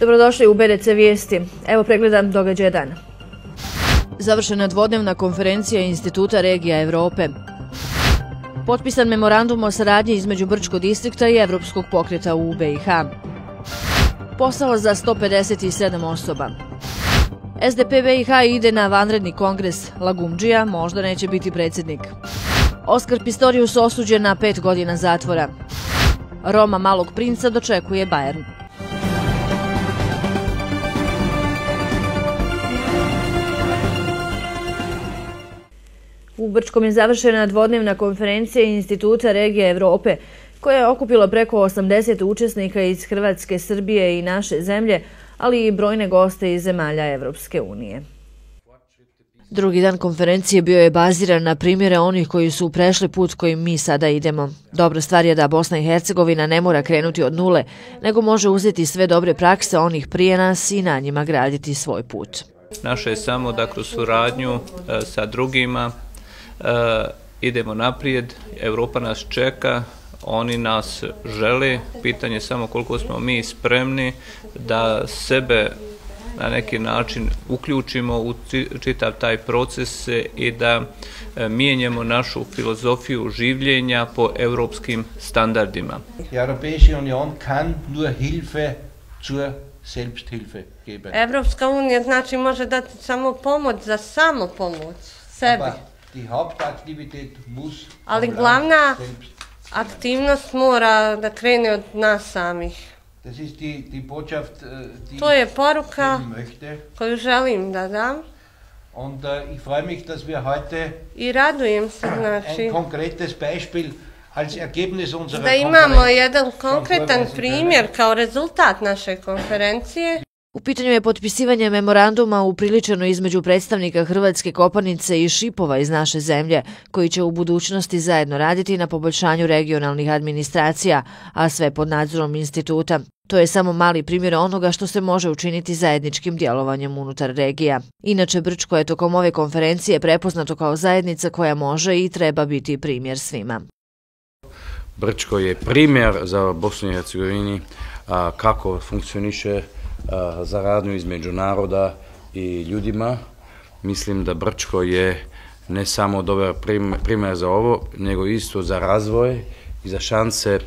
Dobrodošli u BDC Vijesti. Evo pregledam događaja dana. Završena dvodnevna konferencija Instituta regija Evrope. Potpisan memorandum o saradnji između Brčkog distrikta i Evropskog pokreta u BiH. Posao za 157 osoba. SDP BiH ide na vanredni kongres. Lagumdžija možda neće biti predsjednik. Oskar Pistorius osuđen na 5 godina zatvora. Roma Malog princa dočekuje Bayern. U Brčkom je završena dvodnevna konferencija Instituta regija Evrope, koja je okupila preko 80 učesnika iz Hrvatske, Srbije i naše zemlje, ali i brojne goste iz zemalja Evropske unije. Drugi dan konferencije bio je baziran na primjere onih koji su prešli put kojim mi sada idemo. Dobra stvar je da Bosna i Hercegovina ne mora krenuti od nule, nego može uzeti sve dobre prakse onih prije nas i na njima graditi svoj put. Naše je samo da kroz suradnju sa drugima idemo naprijed, Evropa nas čeka, oni nas žele, pitanje je samo koliko smo mi spremni da sebe na neki način uključimo u čitav taj proces i da mijenjamo našu filozofiju življenja po europskim standardima. Europäische Union kann nur Hilfe zur Selbsthilfe geben. Evropska unija znači može dati samo pomoć za samopomoć sebi. Ali glavna aktivnost mora da krene od nas samih. To je poruka koju želim da dam. I radujem se, znači, da imamo jedan konkretan primjer kao rezultat naše konferencije. U pitanju je potpisivanje memoranduma upriličeno između predstavnika Hrvatske Kopanice i Šipova iz naše zemlje, koji će u budućnosti zajedno raditi na poboljšanju regionalnih administracija, a sve pod nadzorom instituta. To je samo mali primjer onoga što se može učiniti zajedničkim djelovanjem unutar regija. Inače, Brčko je tokom ove konferencije prepoznato kao zajednica koja može i treba biti primjer svima. Brčko je primjer za Bosnu i Hercegovini kako funkcioniše zaradnju između naroda i ljudima. Mislim da Brčko je ne samo dobar primjer za ovo, nego isto za razvoj i za šanse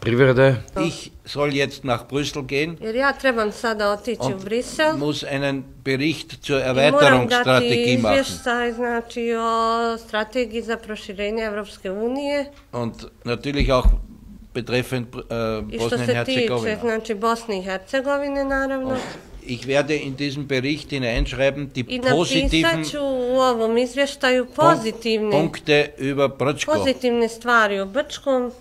privrede. Ich soll jetzt nach Brüssel gehen. Jer ja trebam sada otići u Brisel. Muss einen Bericht zur Erweiterungsstrategie machen. Moram dati izvještaj, znači, o strategiji za proširenje Evropske unije. Und natürlich auch betreffend Bosnien-Herzegovina. Znači Bosne i Hercegovine, naravno. Ich werde in diesem Bericht hineinschreiben die positiven u ovom izvještaju Punkte über Brčko. Pozitivne stvari o Brčkom.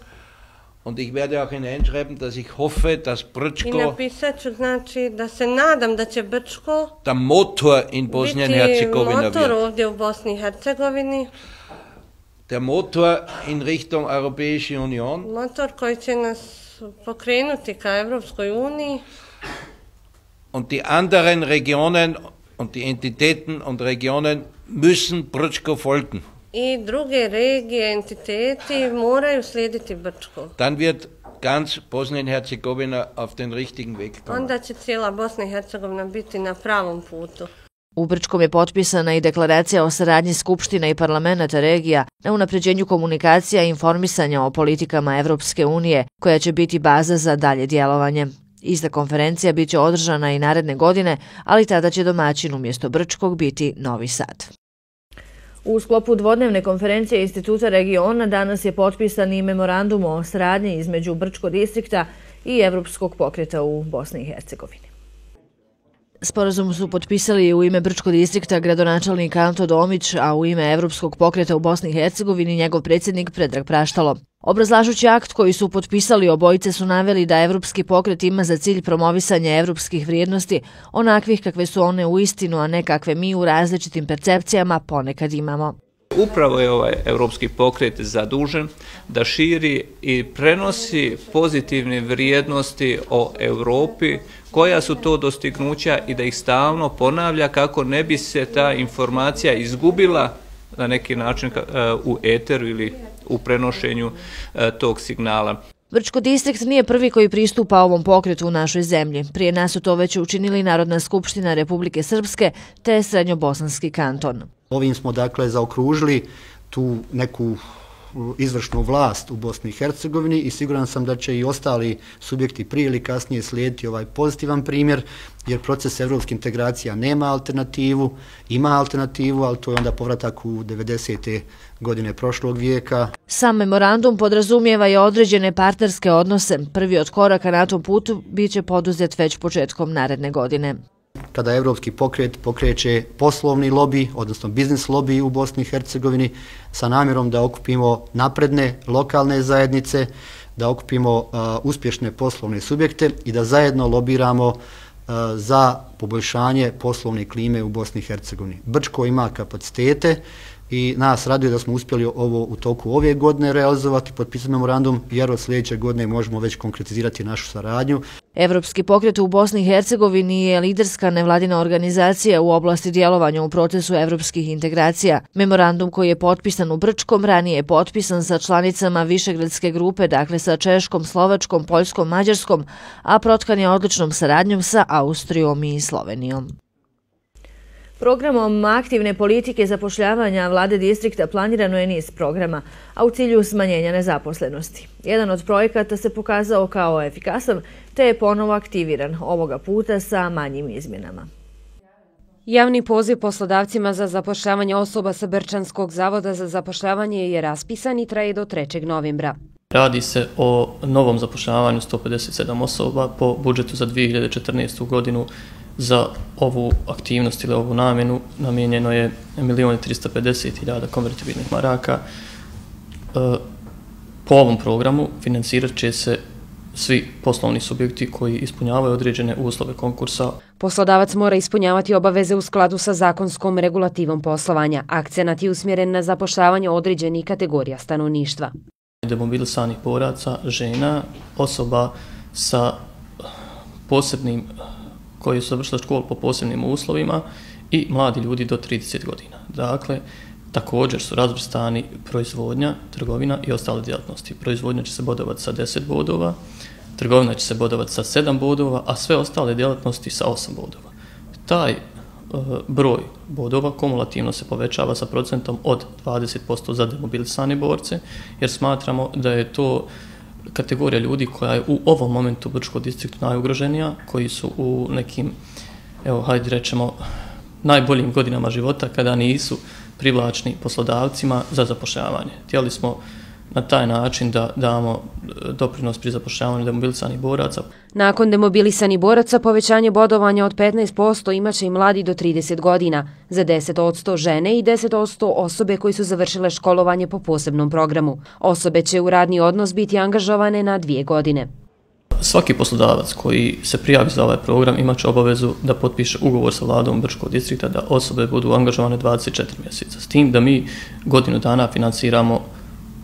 Und ich werde auch hineinschreiben, dass ich hoffe, dass Brčko I napisat ću, znači, da se nadam da će Brčko der Motor in Bosnien-Herzegovina biti motor ovdje u Bosni i Hercegovini. Der Motor in Richtung Europäische Union. Motor koji će nas pokrenuti ka Evropskoj uniji. Und die anderen Regionen und die Entitäten und Regionen müssen Brčko folgen. I druge regije, entiteti moraju slijediti Brčko. Dann wird ganz Bosnien-Herzegovina auf den richtigen Weg kommen. Onda će cijela Bosna i Hercegovina biti na pravom putu. U Brčkom je potpisana i deklaracija o saradnji skupština i parlamenta regija na unapređenju komunikacija i informisanja o politikama Evropske unije, koja će biti baza za dalje djelovanje. Ista konferencija bit će održana i naredne godine, ali tada će domaćin umjesto Brčkog biti Novi Sad. U sklopu dvodnevne konferencije Instituta regiona danas je potpisan i memorandum o saradnji između Brčkog distrikta i Evropskog pokreta u Bosni i Hercegovini. Sporazum su potpisali u ime Brčkog distrikta gradonačelnik Anto Domić, a u ime Evropskog pokreta u Bosni i Hercegovini njegov predsjednik Predrag Praštalo. Obrazlažući akt koji su potpisali, obojice su naveli da Evropski pokret ima za cilj promovisanje evropskih vrijednosti, onakvih kakve su one u istinu, a ne kakve mi u različitim percepcijama ponekad imamo. Upravo je ovaj Evropski pokret zadužen da širi i prenosi pozitivne vrijednosti o Europi, koja su to dostignuća i da ih stalno ponavlja kako ne bi se ta informacija izgubila na neki način u eteru ili u prenošenju tog signala. Brčko distrikt nije prvi koji pristupa ovom pokretu u našoj zemlji. Prije nas su to već učinili Narodna skupština Republike Srpske te Srednjobosanski kanton. Ovim smo dakle zaokružili tu neku izvršnu vlast u Bosni i Hercegovini i siguran sam da će i ostali subjekti prije ili kasnije slijediti ovaj pozitivan primjer, jer proces evropskih integracija nema alternativu, ima alternativu, ali to je onda povratak u 90. godine prošlog vijeka. Sam memorandum podrazumijeva i određene partnerske odnose. Prvi od koraka na tom putu bit će poduzet već početkom naredne godine. Kada evropski pokret pokreće poslovni lobi, odnosno biznis lobi u Bosni i Hercegovini sa namjerom da okupimo napredne lokalne zajednice, da okupimo uspješne poslovne subjekte i da zajedno lobiramo za poboljšanje poslovne klime u Bosni i Hercegovini. Brčko ima kapacitete i nas raduje da smo uspjeli ovo u toku ove godine realizovati, potpisati memorandum, jer od sljedeće godine možemo već konkretizirati našu saradnju. Evropski pokret u Bosni i Hercegovini je liderska nevladina organizacija u oblasti djelovanja u procesu evropskih integracija. Memorandum koji je potpisan u Brčkom ranije je potpisan sa članicama Višegradske grupe, dakle sa Češkom, Slovačkom, Poljskom, Mađarskom, a protkan je odličnom saradnjom sa Austrijom i Slovenijom. Programom aktivne politike zapošljavanja vlade distrikta planirano je niz programa, a u cilju smanjenja nezaposlenosti. Jedan od projekata se pokazao kao efikasan, te je ponovo aktiviran, ovoga puta sa manjim izmjenama. Javni poziv poslodavcima za zapošljavanje osoba sa Brčanskog zavoda za zapošljavanje je raspisan i traje do 3. novembra. Radi se o novom zapošljavanju 157 osoba po budžetu za 2014. godinu. Za ovu aktivnost ili ovu namjenu namijenjeno je 1.350.000 konvertibilnih maraka. Po ovom programu financirat će se svi poslovni subjekti koji ispunjavaju određene uslove konkursa. Poslodavac mora ispunjavati obaveze u skladu sa zakonskom regulativom poslovanja. Akcenat je usmjeren na zapošljavanje određenih kategorija stanovništva. Demobilisanih boraca, žena, osoba sa posebnim koji su završili školu po posebnim uslovima i mladi ljudi do 30 godina. Dakle, također su razvrstani proizvodnja, trgovina i ostale djelatnosti. Proizvodnja će se bodovati sa 10 bodova, trgovina će se bodovati sa 7 bodova, a sve ostale djelatnosti sa 8 bodova. Taj broj bodova kumulativno se povećava sa procentom od 20% za demobilisane borce, jer smatramo da je to kategorija ljudi koja je u ovom momentu u Brčkom distriktu najugroženija, koji su u nekim, evo, hajde rečemo, najboljim godinama života kada nisu privlačni poslodavcima za zapošljavanje. Htjeli smo na taj način da damo doprinos pri zapošljavanju demobilisanih boraca. Nakon demobilisanih boraca povećanje bodovanja od 15% imaće i mladi do 30 godina, za 10% žene i 10% osobe koji su završile školovanje po posebnom programu. Osobe će u radni odnos biti angažovane na 2 godine. Svaki poslodavac koji se prijavi za ovaj program imaće obavezu da potpiše ugovor sa vladom Brčkog distrikta da osobe budu angažovane 24 mjeseca. S tim da mi godinu dana financiramo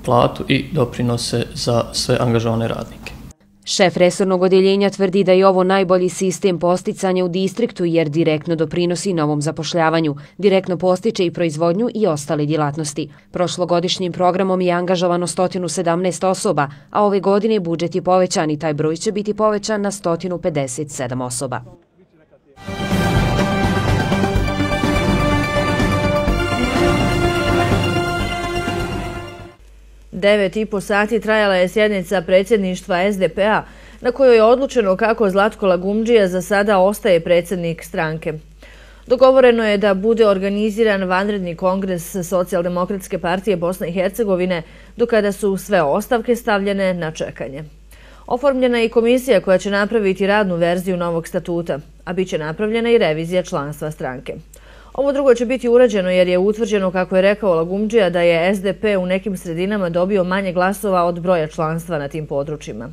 platu i doprinose za sve angažovane radnike. Šef resornog odjeljenja tvrdi da je ovo najbolji sistem posticanja u distriktu jer direktno doprinosi novom zapošljavanju, direktno postiče i proizvodnju i ostale djelatnosti. Prošlogodišnjim programom je angažovano 117 osoba, a ove godine budžet je povećan i taj broj će biti povećan na 157 osoba. 9,5 sati trajala je sjednica predsjedništva SDP-a na kojoj je odlučeno kako Zlatko Lagumdžija za sada ostaje predsjednik stranke. Dogovoreno je da bude organiziran vanredni kongres Socijaldemokratske partije Bosne i Hercegovine, do kada su sve ostavke stavljene na čekanje. Oformljena je i komisija koja će napraviti radnu verziju novog statuta, a bit će napravljena i revizija članstva stranke. Ovo drugo će biti urađeno jer je utvrđeno, kako je rekao Lagumdžija, da je SDP u nekim sredinama dobio manje glasova od broja članstva na tim područjima.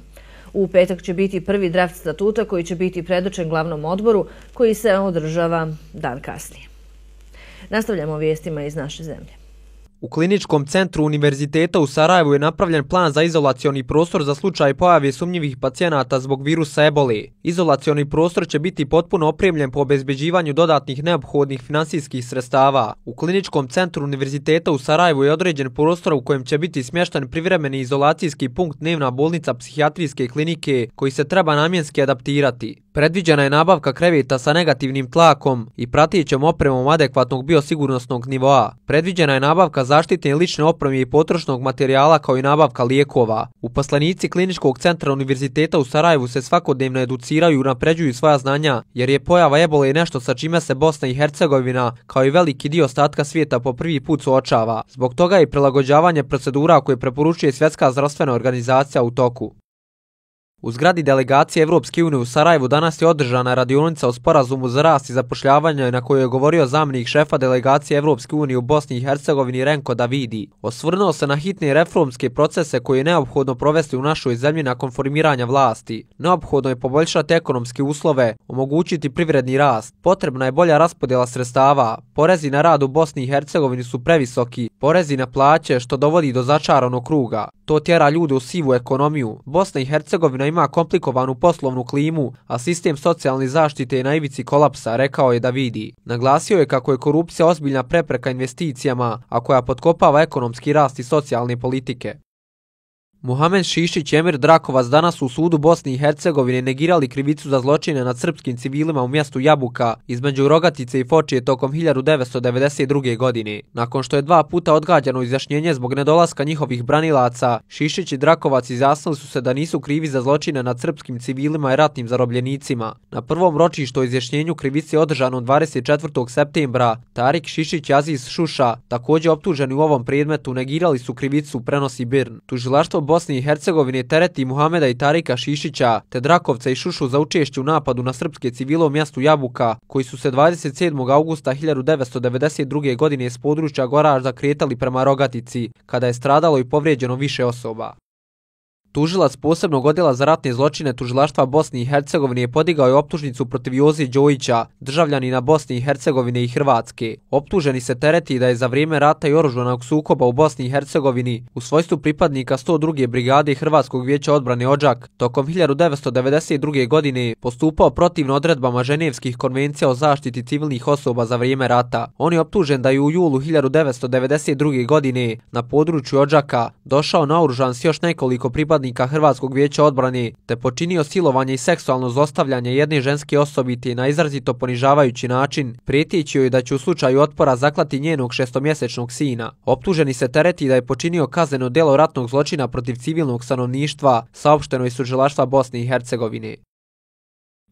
U petak će biti prvi draft statuta koji će biti predočen glavnom odboru koji se održava dan kasnije. Nastavljamo vijestima iz naše zemlje. U Kliničkom centru Univerziteta u Sarajevu je napravljen plan za izolacioni prostor za slučaj pojave sumnjivih pacijenata zbog virusa ebole. Izolacioni prostor će biti potpuno opremljen po obezbeđivanju dodatnih neophodnih finansijskih sredstava. U Kliničkom centru Univerziteta u Sarajevu je određen prostor u kojem će biti smješten privremeni izolacijski punkt dnevna bolnica psihijatrijske klinike koji se treba namjenski adaptirati. Predviđena je nabavka kreveta sa negativnim tlakom i pratećom opremom adekvatnog biosigurnosnog nivoa. Predviđena je nabavka zaštitne lične opreme i potrošnog materijala kao i nabavka lijekova. Uposlenici Kliničkog centra Univerziteta u Sarajevu se svakodnevno educiraju i unapređuju svoja znanja, jer je pojava ebole nešto sa čime se Bosna i Hercegovina, kao i veliki dio ostatka svijeta, po prvi put suočava. Zbog toga je prilagođavanje procedura koje preporučuje Svjetska zdravstvena organizacija u toku. U zgradi delegacije Evropske unije u Sarajevu danas je održana radionica o sporazumu za rast i zapošljavanje na kojoj je govorio zamjenik šefa delegacije Evropske unije u Bosni i Hercegovini Renko Davidi. Osvrnuo se na hitne reformske procese koje je neophodno provesti u našoj zemlji nakon formiranja vlasti. Neophodno je poboljšati ekonomske uslove, omogućiti privredni rast. Potrebna je bolja raspodjela sredstava. Porezi na rad u Bosni i Hercegovini su previsoki, porezi na plaće što dovodi do začaranog kruga. To tjera ljude u sivu ekonomiju. Bosna i Hercegovina ima komplikovanu poslovnu klimu, a sistem socijalne zaštite je na ivici kolapsa, rekao je Davidi. Naglasio je kako je korupcija ozbiljna prepreka investicijama, a koja potkopava ekonomski rast i socijalne politike. Muhamed Šišić i Emir Drakovac danas u sudu Bosne i Hercegovine negirali krivicu za zločine nad srpskim civilima u mjestu Jabuka između Rogatice i Fočije tokom 1992. godine. Nakon što je 2 puta odgađano izjašnjenje zbog nedolaska njihovih branilaca, Šišić i Drakovac izjasnili su se da nisu krivi za zločine nad srpskim civilima i ratnim zarobljenicima. Na prvom ročištu o izjašnjenju krivice održanom 24. septembra, Tarik Šišić i Aziz Šuša, također optuženi u ovom predmetu, negirali su krivicu, prenosi BIRN. Tužilaštvo Bosne i Hercegovine tereti Muhameda i Tarika Šišića te Drakovca i Šušu za učešće u napadu na srpske civile u mjestu Jabuka, koji su se 27. augusta 1992. godine s područja Goražda kretali prema Rogatici, kada je stradalo i povrijeđeno više osoba. Tužilac posebnog odjela za ratne zločine Tužilaštva Bosne i Hercegovine je podigao je optužnicu protiv Joze Đojića, državljanina Bosne i Hercegovine i Hrvatske. Optuženi se tereti da je za vrijeme rata i oružanog sukoba u Bosni i Hercegovini u svojstvu pripadnika 102. brigade Hrvatskog vijeća odbrane Odžak tokom 1992. godine postupao protivno odredbama Ženevskih konvencija o zaštiti civilnih osoba za vrijeme rata. On je optužen da je u julu 1992. godine na području Odžaka došao naoružan s još nekoliko pripadnika Hrvatskog vijeća odbrane te počinio silovanje i seksualno zlostavljanje jedne ženske osobite na izrazito ponižavajući način, prijeteći joj da će u slučaju otpora zaklati njenog 6-mjesečnog sina. Optuženi se tereti da je počinio kazneno djelo ratnog zločina protiv civilnog stanovništva, saopšteno iz Tužilaštva Bosne i Hercegovine.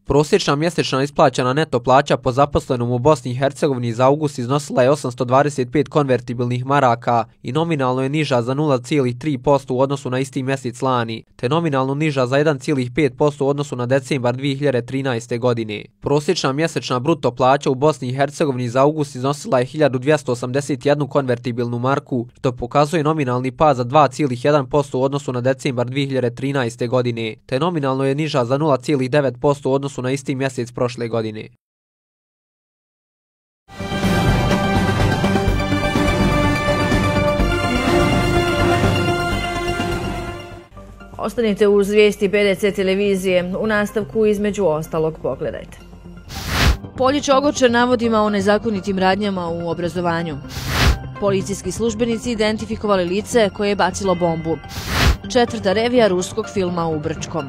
Prosječna mjesečna isplaćena neto plaća po zaposlenom u Bosni i Hercegovini za august iznosila je 825 konvertibilnih maraka i nominalno je niža za 0,3% u odnosu na isti mjesec lani, te nominalno niža za 1,5% u odnosu na decembar 2013. godine. Prosječna mjesečna bruto plaća u Bosni i Hercegovini za august iznosila je 1281 konvertibilnu marku, što pokazuje nominalni pad za 2,1% u odnosu na decembar 2013. godine, te nominalno je niža za 0,9% u odnosu na isti mjesec prošle godine. Ostanite uz vijesti PDC televizije. U nastavku između ostalog pogledajte. Poljić ogorčen navodima o nezakonitim radnjama u obrazovanju. Policijski službenici identifikovali lice koje je bacilo bombu. 4. revija ruskog filma u Brčkom.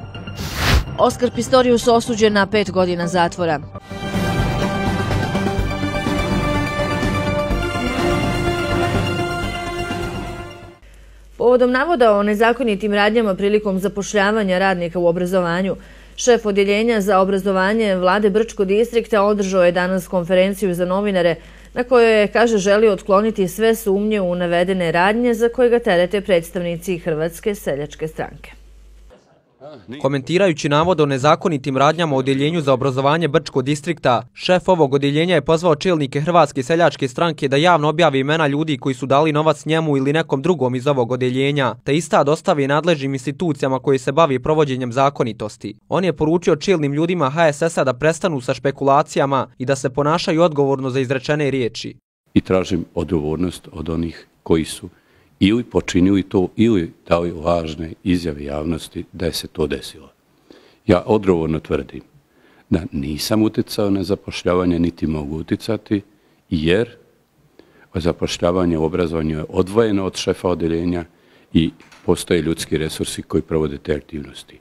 Oskar Pistorius osuđen na 5 godina zatvora. Povodom navoda o nezakonitim radnjama prilikom zapošljavanja radnika u obrazovanju, šef odjeljenja za obrazovanje vlade Brčkog distrikta održao je danas konferenciju za novinare na kojoj je, kaže, želio otkloniti sve sumnje u navedene radnje za koje ga terete predstavnici Hrvatske seljačke stranke. Komentirajući navod o nezakonitim radnjama u odjeljenju za obrazovanje Brčkog distrikta, šef ovog odjeljenja je pozvao čelnike Hrvatske seljačke stranke da javno objave imena ljudi koji su dali novac njemu ili nekom drugom iz ovog odjeljenja, te ista dostavi nadležnim institucijama koji se bavi provođenjem zakonitosti. On je poručio čelnim ljudima HSS-a da prestanu sa špekulacijama i da se ponašaju odgovorno za izrečene riječi. I tražim odgovornost od onih koji su ili počinili to ili dali lažne izjave javnosti da je se to desilo. Ja odgovorno tvrdim da nisam uticao na zapošljavanje, niti mogu uticati, jer zapošljavanje u obrazovanju je odvojeno od šefa odeljenja i postoje ljudski resursi koji provode te aktivnosti.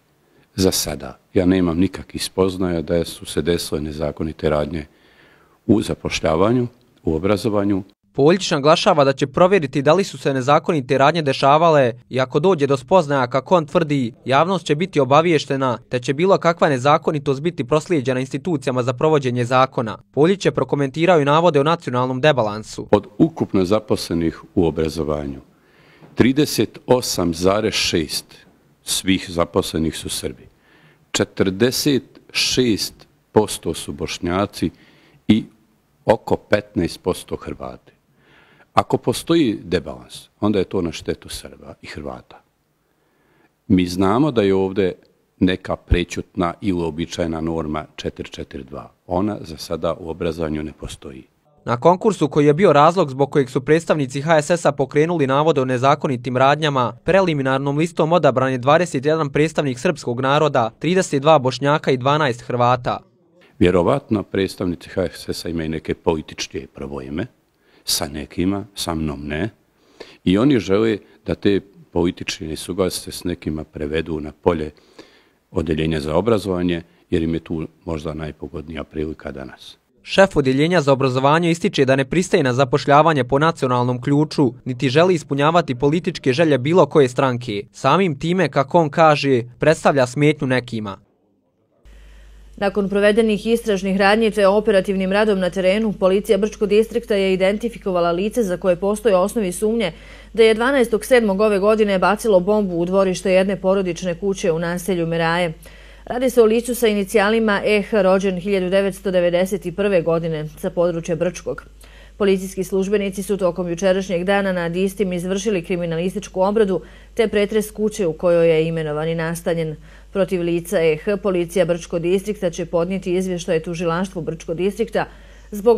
Za sada ja nemam nikakvih spoznaja da su se desile nezakonite radnje u zapošljavanju, u obrazovanju. Poljić naglašava da će provjeriti da li su se nezakonite radnje dešavale i ako dođe do spoznaja, kako on tvrdi, javnost će biti obaviještena te će bilo kakva nezakonitost biti proslijeđena institucijama za provođenje zakona. Poljić je prokomentirao i navode o nacionalnom debalansu. Od ukupno zaposlenih u obrazovanju, 38,6% svih zaposlenih su Srbi, 46% su Bošnjaci i oko 15% Hrvati. Ako postoji debalans, onda je to na štetu Srba i Hrvata. Mi znamo da je ovdje neka prećutna i uobičajena norma 442. Ona za sada u obrazovanju ne postoji. Na konkursu koji je bio razlog zbog kojeg su predstavnici HSS-a pokrenuli navode o nezakonitim radnjama, preliminarnom listom odabran je 21 predstavnik srpskog naroda, 32 Bošnjaka i 12 Hrvata. Vjerovatno predstavnici HSS-a imaju neke političke probojme, sa nekima, sa mnom ne, i oni žele da te političke nesuglasice s nekima prevedu na polje odeljenja za obrazovanje, jer im je tu možda najpogodnija prilika danas. Šef odjeljenja za obrazovanje ističe da ne pristaje na zapošljavanje po nacionalnom ključu, niti želi ispunjavati političke želje bilo koje stranke. Samim time, kako on kaže, predstavlja smetnju nekima. Nakon provedenih istražnih radnji te operativnim radom na terenu, policija Brčkog distrikta je identifikovala lice za koje postoje osnovi sumnje da je 12.7. ove godine bacilo bombu u dvorište jedne porodične kuće u naselju Meraje. Radi se o licu sa inicijalima EH, rođen 1991. godine sa područja Brčkog. Policijski službenici su tokom jučerašnjeg dana nad istim izvršili kriminalističku obradu te pretres kuće u kojoj je imenovani nastanjen. Protiv lica EH, policija Brčkog distrikta će podnijeti izvještaj tužilaštvu Brčkog distrikta zbog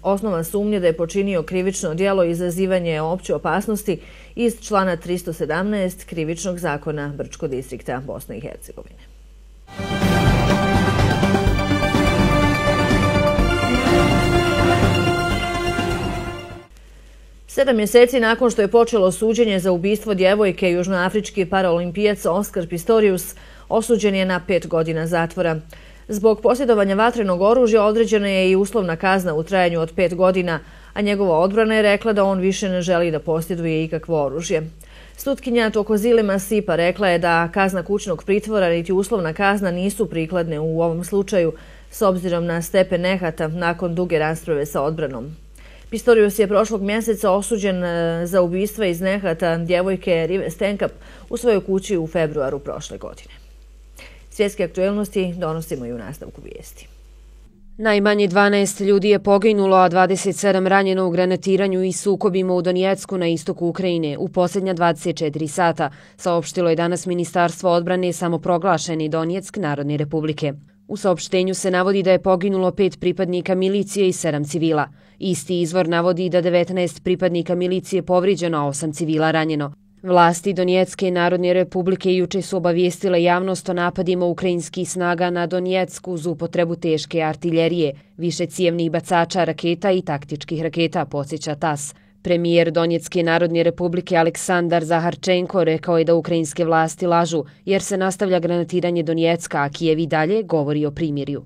osnova sumnje da je počinio krivično djelo izazivanje opće opasnosti iz člana 317 Krivičnog zakona Brčkog distrikta Bosne i Hercegovine. 7 mjeseci nakon što je počelo suđenje za ubistvo djevojke, južnoafrički paraolimpijac Oskar Pistorius osuđen je na 5 godina zatvora. Zbog posjedovanja vatrenog oružja određena je i uslovna kazna u trajanju od 5 godina, a njegova odbrana je rekla da on više ne želi da posjeduje ikakvo oružje. Sutkinja Tokozile Masipa rekla je da kazna kućnog pritvora niti uslovna kazna nisu prikladne u ovom slučaju s obzirom na stepen nehata nakon duge rasprave sa odbranom. Pistorius je prošlog mjeseca osuđen za ubistva iz nehata djevojke Rive Stenkap u svojoj kući u februaru prošle godine. Svjetske aktuelnosti donosimo i u nastavku vijesti. Najmanje 12 ljudi je poginulo, a 27 ranjeno u granatiranju i sukobima u Donjecku na istoku Ukrajine u posljednja 24 sata, saopštilo je danas Ministarstvo odbrane samoproglašeni Donjeck Narodne republike. U saopštenju se navodi da je poginulo 5 pripadnika milicije i 7 civila. Isti izvor navodi da 19 pripadnika milicije povrijeđeno, a 8 civila ranjeno. Vlasti Donjecke Narodne republike juče su obavijestile javnost o napadima ukrajinskih snaga na Donjecku uz upotrebu teške artiljerije, višecijevnih bacača raketa i taktičkih raketa, podsjeća TASS. Premijer Donjecke Narodne republike Aleksandar Zaharčenko rekao je da ukrajinske vlasti lažu jer se nastavlja granatiranje Donjecka, a Kijev i dalje govori o primirju.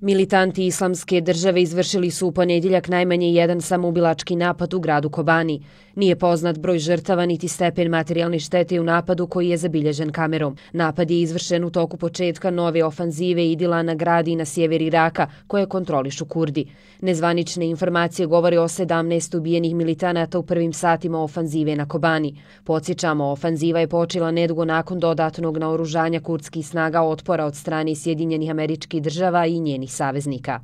Militanti Islamske države izvršili su u ponedjeljak najmanje jedan samoubilački napad u gradu Kobani. Nije poznat broj žrtava niti stepen materijalne štete u napadu koji je zabilježen kamerom. Napad je izvršen u toku početka nove ofanzive Idila na grad i na sjever Iraka koje kontrolišu Kurdi. Nezvanične informacije govore o 17 ubijenih militanata u prvim satima ofanzive na Kobani. Podsjećamo, ofanziva je počela nedugo nakon dodatnog naoružanja kurdskih snaga otpora od strane Sjedinjenih Američkih Država i njenih saveznika.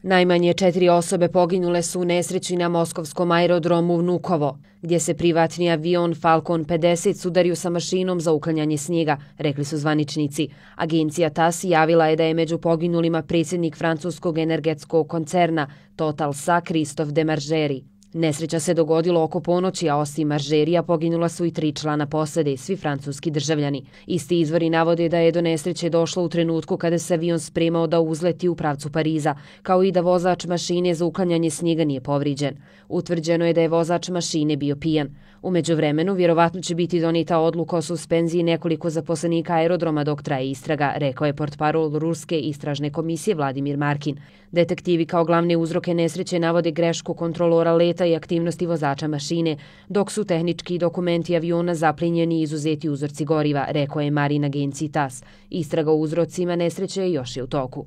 Najmanje 4 osobe poginule su u nesreći na moskovskom aerodromu Vnukovo, gdje se privatni avion Falcon 50 sudario sa mašinom za uklanjanje snijega, rekli su zvaničnici. Agencija TASS javila je da je među poginulima predsjednik francuskog energetskog koncerna Total Sa Christophe Demargeri. Nesreća se dogodila oko ponoći, a osim maržerija poginula su i 3 člana posade, svi francuski državljani. Isti izvori navode da je do nesreće došlo u trenutku kada se avion spremao da uzleti u pravcu Pariza, kao i da vozač mašine za uklanjanje snijega nije povrijeđen. Utvrđeno je da je vozač mašine bio pijan. U međuvremenu, vjerovatno će biti donijeta odluka o suspenziji nekoliko zaposlenika aerodroma dok traje istraga, rekao je portparol Ruske istražne komisije Vladimir Markin. Detektivi kao glavne uzroke nesreće navode grešku kontrolora leta i aktivnosti vozača mašine, dok su tehnički dokumenti aviona zaplinjeni i izuzeti uzorci goriva, rekao je Marin agenciji TAS. Istraga o uzrocima nesreće još je u toku.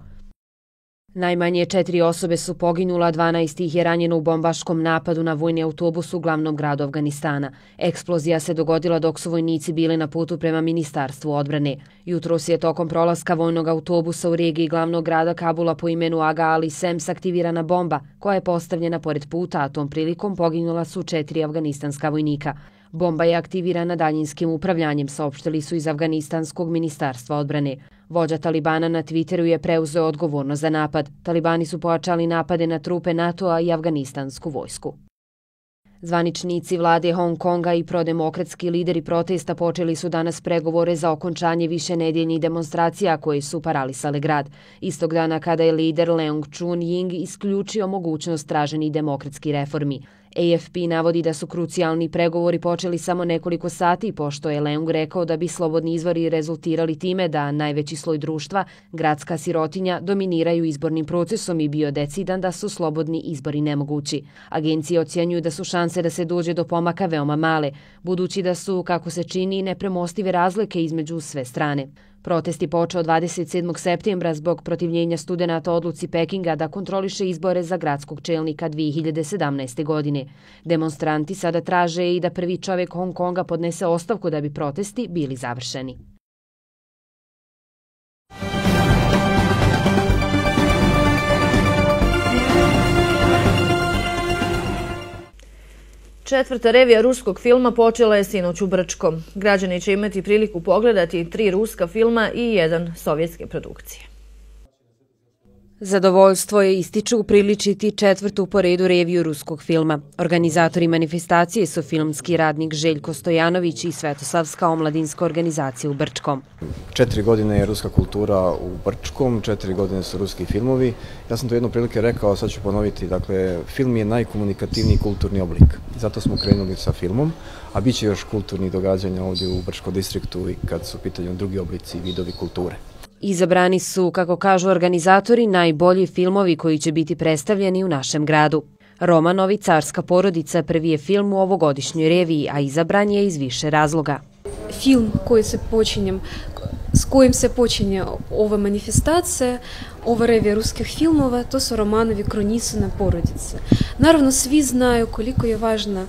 Najmanje 4 osobe su poginula, 12 ih je ranjeno u bombaškom napadu na vojni autobus u glavnom gradu Afganistana. Eksplozija se dogodila dok su vojnici bili na putu prema Ministarstvu odbrane. Jutros je tokom prolaska vojnog autobusa u regiji glavnog grada Kabula po imenu Aga Ali Sems aktivirana bomba koja je postavljena pored puta, a tom prilikom poginula su 4 afganistanska vojnika. Bomba je aktivirana daljinskim upravljanjem, saopštili su iz Afganistanskog ministarstva odbrane. Vođa Talibana na Twitteru je preuzeo odgovornost za napad. Talibani su pojačali napade na trupe NATO-a i afganistansku vojsku. Zvaničnici vlade Hong Konga i prodemokratski lideri protesta počeli su danas pregovore za okončanje višenedeljnih demonstracija koje su paralisale grad. Istog dana kada je lider Leung Chun-ying isključio mogućnost traženih demokratskih reformi. AFP navodi da su krucijalni pregovori počeli samo nekoliko sati, pošto je Leung rekao da bi slobodni izbori rezultirali time da najveći sloj društva, gradska sirotinja, dominiraju izbornim procesom i bio decidan da su slobodni izbori nemogući. Agencije ocjenjuju da su šanse da se dođe do pomaka veoma male, budući da su, kako se čini, nepremostive razlike između sve strane. Protest je počeo 27. septembra zbog protivljenja studenata odluci Pekinga da kontroliše izbore za gradskog čelnika 2017. godine. Demonstranti sada traže i da prvi čovjek Hong Konga podnese ostavku da bi protesti bili završeni. Četvrta revija ruskog filma počela je sinoć u Brčkom. Građani će imati priliku pogledati 3 ruska filma i 1 sovjetske produkcije. Zadovoljstvo je, ističu, upriličiti 4. po redu reviju ruskog filma. Organizatori manifestacije su filmski radnik Željko Stojanović i Svetosavska omladinska organizacija u Brčkom. 4 godine je ruska kultura u Brčkom, 4 godine su ruski filmovi. Ja sam to jednom prilike rekao, sad ću ponoviti, dakle, film je najkomunikativniji kulturni oblik. Zato smo krenuli sa filmom, a bit će još kulturnih događanja ovdje u Brčkom distriktu i kad su u pitanju drugi oblici i vidovi kulture. Izabrani su, kako kažu organizatori, najbolji filmovi koji će biti predstavljeni u našem gradu. Romanovi Carska porodica prvi je film u ovogodišnjoj reviji, a izabran je iz više razloga. Film s kojim se počinje ova manifestacija, ova revija ruskih filmova, to su Romanovi Kronisina porodice. Naravno, svi znaju koliko je važna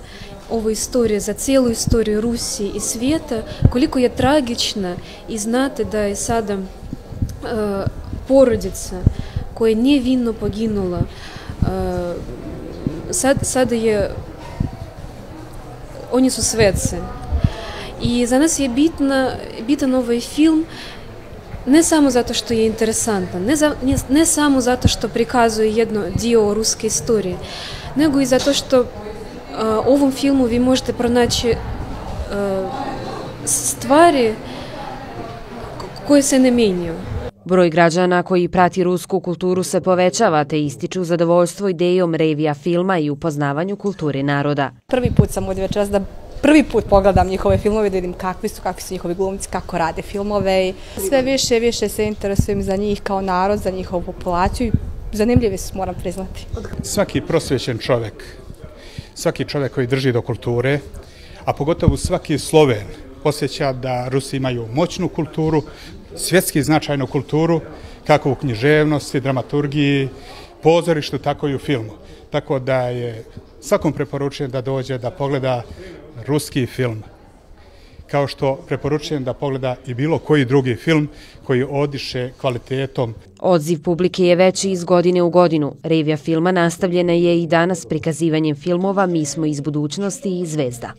ova istorija za cijelu istoriju Rusije i svijeta, koliko je tragična i znate da je sada porodica koja je nevinno poginula, sada je, oni su sveci. I za nas je bitan ovaj film ne samo zato što je interesantan, ne samo zato što prikazuje jedno dio ruske istorije, nego i zato što u ovom filmu vi možete pronaći stvari koje se ne mijenjaju. Broj građana koji prati rusku kulturu se povećava, te ističu zadovoljstvo idejom revija filma i upoznavanju kulture naroda. Prvi put sam ovdje večeras da prvi put pogledam njihove filmove, da vidim kakvi su njihovi glumci, kako rade filmove. Sve više i više se interesujem za njih kao narod, za njihovu populaciju. Zanimljivi su, moram priznati. Svaki prosvjećen čovjek, svaki čovjek koji drži do kulture, a pogotovo svaki Sloven, osjeća da Rusi imaju moćnu kulturu, svjetski značajnu kulturu, kako u književnosti, dramaturgiji, pozorištu, tako i u filmu. Tako da je svakom preporučujem da dođe da pogleda ruski film, kao što preporučujem da pogleda i bilo koji drugi film koji odiše kvalitetom. Odziv publike je veći iz godine u godinu. Revija filma nastavljena je i danas prikazivanjem filmova Mi smo iz budućnosti i Zvezda.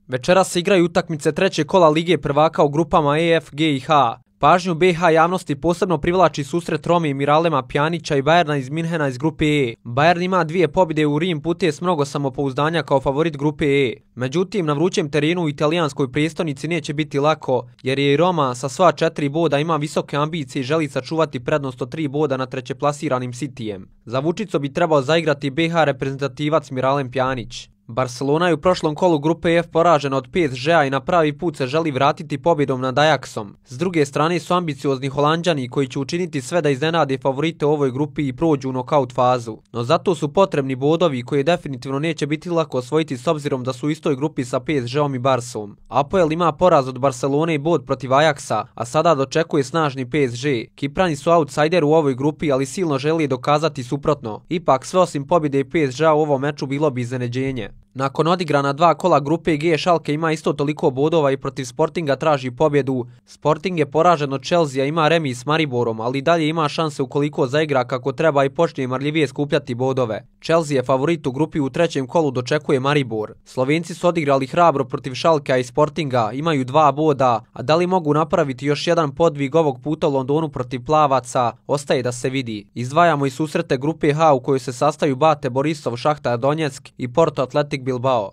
Večeras se igraju utakmice trećeg kola Lige prvaka u grupama E, F, G i H. Pažnju BiH javnosti posebno privlači susret Rome i Miralema Pjanića i Bayerna iz Minhena iz grupe E. Bayern ima 2 pobjede u Rim, putuje s mnogo samopouzdanja kao favorit grupe E. Međutim, na vrućem terenu u italijanskoj prijestolnici neće biti lako, jer je i Roma sa sva 4 boda ima visoke ambicije i želi sačuvati prednost od 3 boda na trećeplasiranim Cityjem. Za Vučico bi trebao zaigrati BiH reprezentativac Miralem Pjanić. Barcelona je u prošlom kolu grupe F poražena od PSG-a i na pravi put se želi vratiti pobjedom nad Ajaxom. S druge strane su ambiciozni Holanđani koji će učiniti sve da iznenade favorite u ovoj grupi i prođu u nokaut fazu. No zato su potrebni bodovi koje definitivno neće biti lako osvojiti s obzirom da su u istoj grupi sa PSG-om i Barsom. Apoel ima poraz od Barcelone i bod protiv Ajaxa, a sada dočekuje snažni PSG. Kiprani su outsider u ovoj grupi, ali silno želi dokazati suprotno. Ipak sve osim pobjede PSG-a u ovom meču bilo bi iznenađenje. Nakon odigrana 2 kola grupe G, Schalke ima isto toliko bodova i protiv Sportinga traži pobjedu. Sporting je poražen od Chelsea, ima remis s Mariborom, ali dalje ima šanse ukoliko zaigra kako treba i počne marljivije skupljati bodove. Chelsea je favorit u grupi, u 3. kolu dočekuje Maribor. Slovenci su odigrali hrabro protiv Schalkea i Sportinga, imaju 2 boda, a da li mogu napraviti još jedan podvig ovog puta u Londonu protiv plavaca, ostaje da se vidi. Izdvajamo i susrete grupe H u kojoj se sastaju Bate Borisov, Šahtar Donjeck i Porto Athletic Bilbao.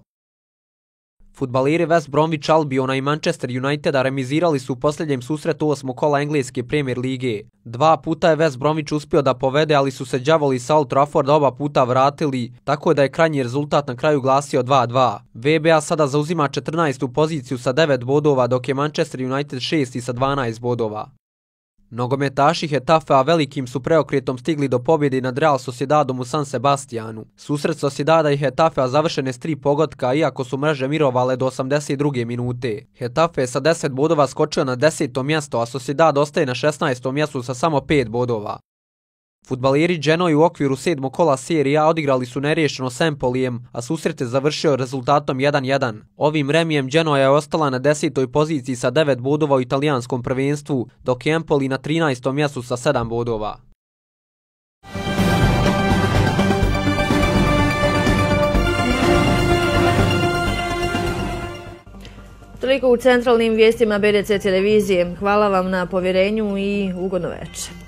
Fudbaleri West Bromwich Albiona i Manchester Uniteda remizirali su u posljednjem susretu 8. kola engleske Premier lige. 2 puta je West Bromwich uspio da povede, ali su se đavoli sa Old Trafforda oba puta vratili, tako da je krajnji rezultat na kraju glasio 2-2. VBA sada zauzima 14. poziciju sa 9 bodova, dok je Manchester United 6. sa 12 bodova. Nogometaši Hetafea velikim su preokretom stigli do pobjede nad Real Sociedadom u San Sebastianu. Susret Sociedada i Hetafea završen je s 3 pogotka, iako su mreže mirovale do 82. minute. Hetafe je sa 10 bodova skočio na 10. mjesto, a Sociedad ostaje na 16. mjestu sa samo 5 bodova. Fudbaleri Genoa u okviru 7. kola Serie A odigrali su neriješeno s Empolijem, a susret je završio rezultatom 1-1. Ovim remijem Genoa je ostala na 10. poziciji sa 9 bodova u italijanskom prvenstvu, dok je Empoli na 13. mjestu sa 7 bodova. Toliko u centralnim vijestima BDC televizije. Hvala vam na povjerenju i ugodno večer.